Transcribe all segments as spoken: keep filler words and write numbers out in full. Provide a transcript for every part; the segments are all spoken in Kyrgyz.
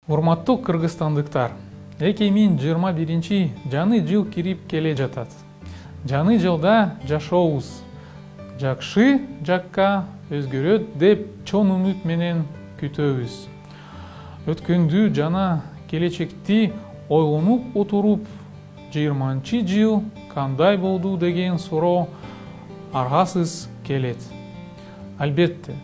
Урматтуу кыргызстандыктар, эки миң жыйырма биринчи жаңы жыл кирип келе жатат. Жаңы жылда жашообуз жакшы жакка өзгөрөт деп чоң үмүт менен күтөбүз. Өткөндү жана келечекти ойлонуп отуруп, жыйырманчы жыл кандай болду деген суроо аргасыз келет. Албетте,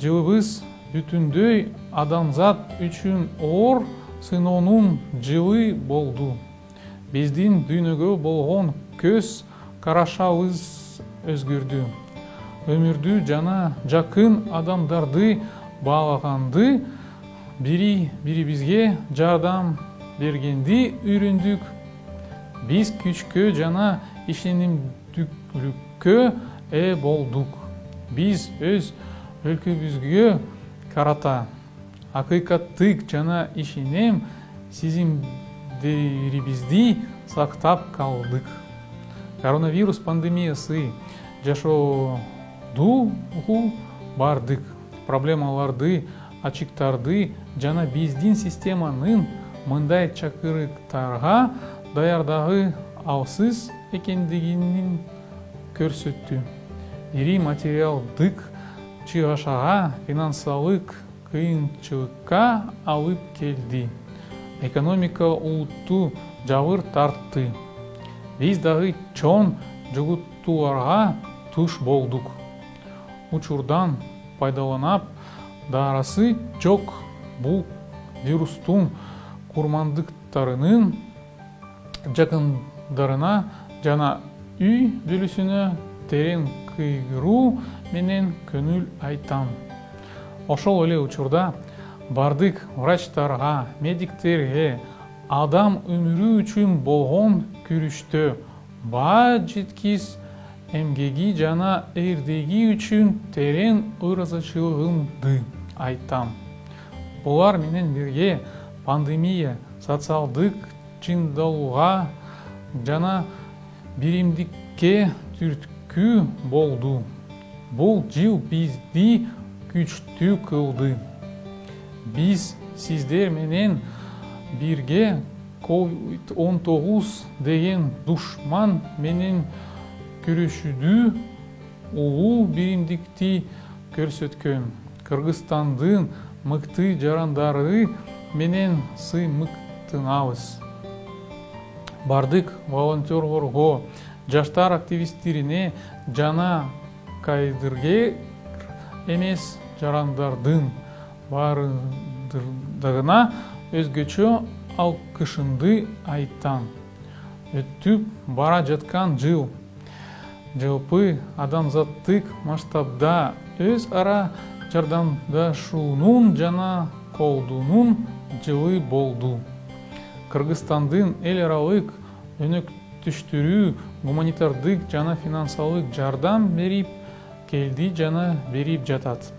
жылыбыз бүтүндөй адамзат үчүн оор сыноонун жылы болду. Биздин дүйнөгө болгон көз карашыбыз өзгөрдү. Өмүрдү жана жакын адамдарды баалаганды, бири бирибизге жардам бергенди үйрөндүк. Биз күчкө жана ишенимдүүлүккө ээ болдук. Биз өз өлкөбүзгө карата акыйкаттык жана ишенем сезимдерибизди сактап калдык. Коронавирус пандемиясы жашоодугу бардык проблемаларды, ачыктарды жана биздин системанын мындай чакырыктарга даярдыгы алсыз экендигин көрсөттү. Ири материалдык чыгашага, финансылык кыйынчылыкка алып келди. Экономика улутту жабыр тартты. Биз дагы чоң жоготууларга туш болдук. Учурдан пайдаланып, дарасы жок бул вирустун курмандыктарынын жакындарына жана үй бүлөсүнө терең кыйгыруу менен көңүл айтам. Ошол эле учурда бардык врачтарга, медиктерге адам өмүрү үчүн болгон күрүштө баа жеткиз эмгеги жана эрдеги үчүн терең ыраазычылыгымды айтам. Булар менен бирге пандемия социалдык чыңдалууга жана биримдикке түрткү болду. Бул жыл бизди күчтүү кылды. Биз сиздер менен бирге ковид он тогуз деген душман менен күрөшүүдө улуу биримдикти көрсөткөн. Кыргызстандын мыкты жарандары менен сыймыктанабыз. Бардык волонтерлорго, жаштар активисттерине жана кайдырге эмес жарандардын баардыгына өзгөчө алкышымды айтам. Өтүп бара жаткан жыл жалпы адамзаттык масштабда өз ара жардамдашуунун жана колдоонун жылы болду. Кыргызстандын эл аралык өнөктүштөрү гуманитардык жана финансылык жардам берип келди жана берип жатат.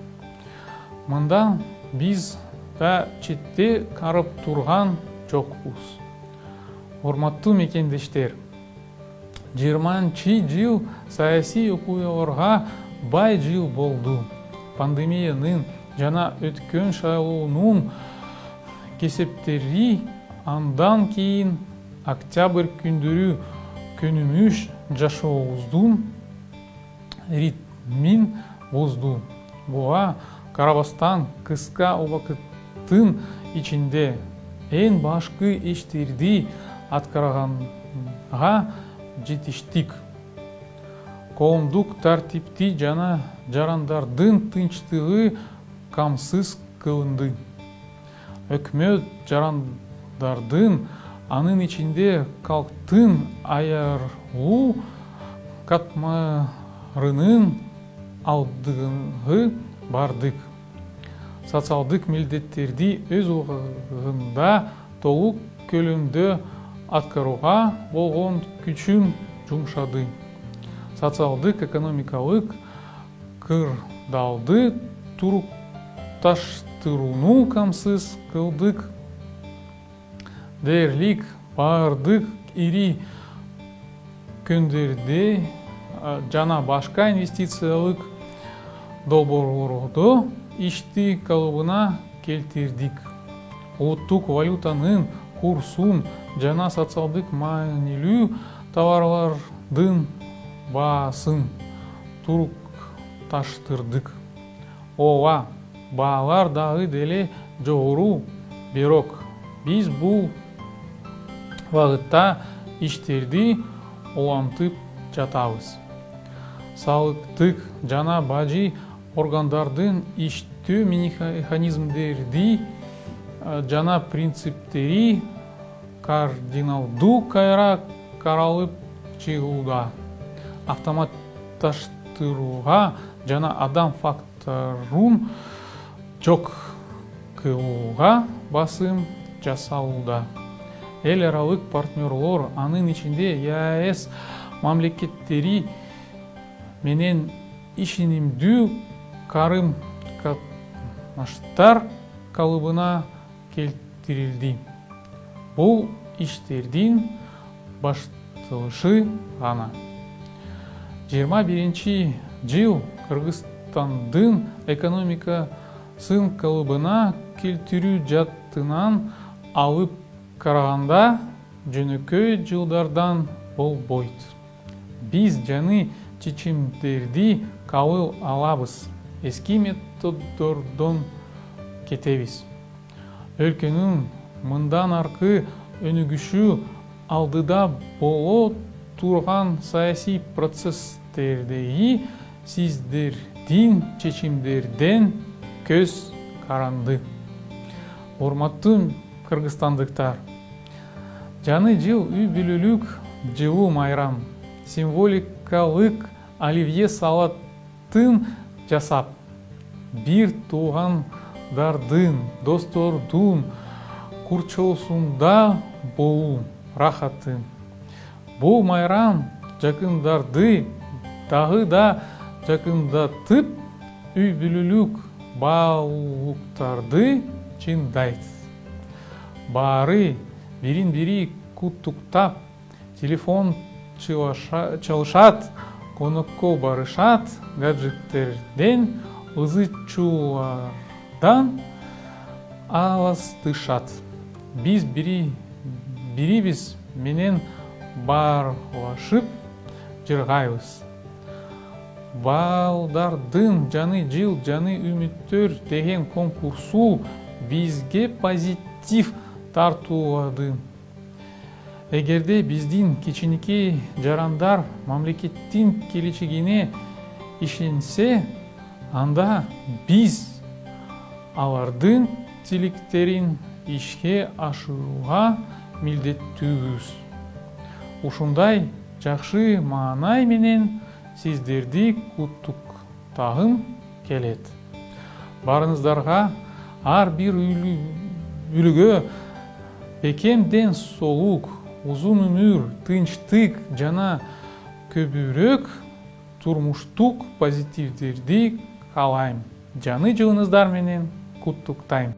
Мында биз да четте карап турган жокпуз. Урматтуу мекендештер, жыйырманчы жыл саясий окуяларга бай жыл болду. Пандемиянын жана өткөн шайлоонун кесептери андан кийин октябрь күндөрү көнүмүш жашообуздун ритмин бузду. Буга карабастан кыска убакыттын ичинде эң башкы иштерди аткарганга жетиштик. Коомдук тартипти жана жарандардын тынчтыгы камсыз кылынды. Өкмөт жарандардын, анын ичинде калктын аярлуу катмарынын алдыгы бардык. Социалдык милдеттерди өз убагында толук көлөмдө аткарууга болгон күчүн жумшады. Социалдык экономикалык кырдаалды турукташтырууну камсыз кылдык. Дээрлик бардык ири көндөрдө жана башка инвестициялык долбоорлорду ишти калыбына келтирдик. улуттук валютанын курсун жана социалдык маанилүү товарлардын баасын турукташтырдык. Ооба, баалар дагы деле жогору, бирок биз бул багытта иштерди улантып жатабыз. Салыктык жана бажы органдардын иштөө механизмдери жана принциптери кардиналдуу кайра каралып чыгууда. Автоматташтырууга жана адам факторун жок кылууга басым жасалууда. Эл аралык партнерлор, анын ичинде Е А Э С мамлекеттери менен ишенимдүү карым катнаштар калыбына келтирилди. Бул иштердин башталышы гана. жыйырма биринчи жыл Кыргызстандын экономикасын калыбына келтирүү жактынан алып караганда жөнөкөй жылдардан болбойт. Биз жаңы чечимдерди кабыл алабыз, эски методдордон кетебиз. Өлкөнүн мындан аркы өнүгүшү алдыда боло турган саясий процесстердеги сиздердин чечимдерден көз каранды. Урматтуу кыргызстандыктар, жаңы жыл үй бүлөлүк жылуу майрам, символикалык оливье салатын жасап, бир туугандардын, достордун курчоосунда болуу рахаты. Бул майрам жакындарды дагы да жакындатып, үй бүлөлүк баалуулуктарды чындайт. Баары бирин-бири куттуктап, телефон чалышат, конокко барышат, гаджеттерден, ызы-чуулардан аластышат. Биз бирибиз менен баарлашып жыргайбыз. Балдардын жаңы жыл, жаңы үмүттөр деген конкурсу бизге позитив тартуулады. Эгерде биздин кичинекей жарандар мамлекеттин келечегине ишенсе, анда биз алардын тилектерин ишке ашырууга милдеттүүбүз. Ушундай жакшы маанай менен сиздерди куттуктагым келет. Барыңыздарга ар бир үлгүгө бекем ден соолук, узун өмүр, тынчтык жана көбүрөөк турмуштук позитивдерди каалайм. Жаңы жылыңыздар менен куттуктайм.